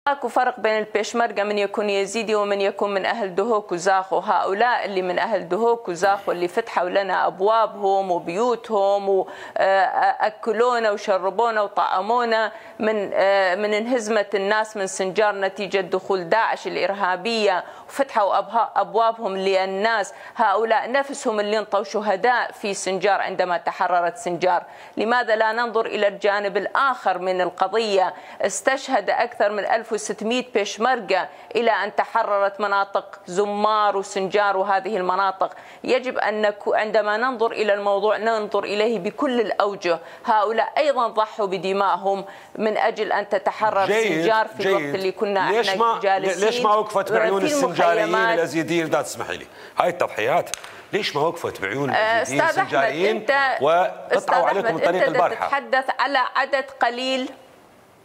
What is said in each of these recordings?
اكو فرق بين البيشمركة من يكون يزيدي ومن يكون من اهل دهوك وزاخو. هؤلاء اللي من اهل دهوك وزاخو اللي فتحوا لنا ابوابهم وبيوتهم واكلونا وشربونا وطعمونا من انهزمة الناس من سنجار نتيجة دخول داعش الارهابية وفتحوا ابوابهم للناس، هؤلاء نفسهم اللي انطوا شهداء في سنجار عندما تحررت سنجار. لماذا لا ننظر الى الجانب الاخر من القضية؟ استشهد اكثر من 1600 بيشمركة إلى أن تحررت مناطق زمار وسنجار وهذه المناطق. يجب أن عندما ننظر إلى الموضوع ننظر إليه بكل الأوجه. هؤلاء أيضا ضحوا بدمائهم من أجل أن تتحرر سنجار في الوقت اللي كنا احنا جالسين. ليش ما وقفت بعيون السنجاريين الأزيديين إذا تسمحي لي؟ هاي التضحيات ليش ما وقفت بعيون الأزيديين السنجاريين وقطعوا عليكم من طريق البارحة؟ تتحدث على عدد قليل.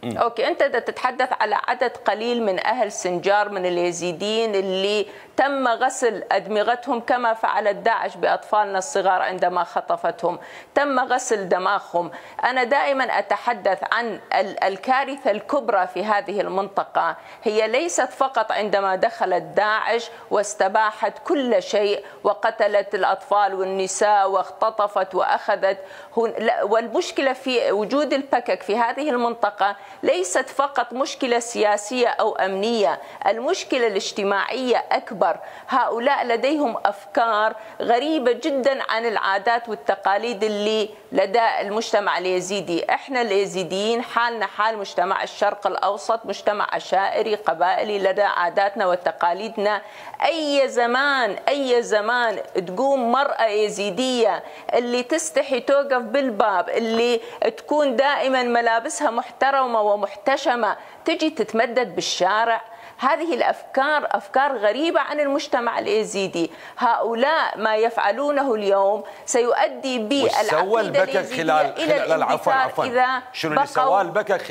اوكي، انت تتحدث على عدد قليل من اهل سنجار من اليزيديين اللي تم غسل ادمغتهم كما فعلت داعش باطفالنا الصغار عندما خطفتهم، تم غسل دماغهم. انا دائما اتحدث عن الكارثه الكبرى في هذه المنطقه، هي ليست فقط عندما دخلت داعش واستباحت كل شيء وقتلت الاطفال والنساء واختطفت واخذت، والمشكله في وجود البكك في هذه المنطقه ليست فقط مشكلة سياسية أو أمنية، المشكلة الاجتماعية أكبر. هؤلاء لديهم أفكار غريبة جدا عن العادات والتقاليد اللي لدى المجتمع اليزيدي. احنا اليزيديين حالنا حال مجتمع الشرق الأوسط، مجتمع عشائري قبائلي، لدى عاداتنا وتقاليدنا. أي زمان تقوم مرأة يزيدية اللي تستحي توقف بالباب، اللي تكون دائما ملابسها محترمة ومحتشمة، تجي تتمدد بالشارع. هذه الأفكار أفكار غريبة عن المجتمع اليزيدي. هؤلاء ما يفعلونه اليوم سيؤدي بالعقيدة اليزيدية إلى الانبثار إذا شنو اللي سواه البكك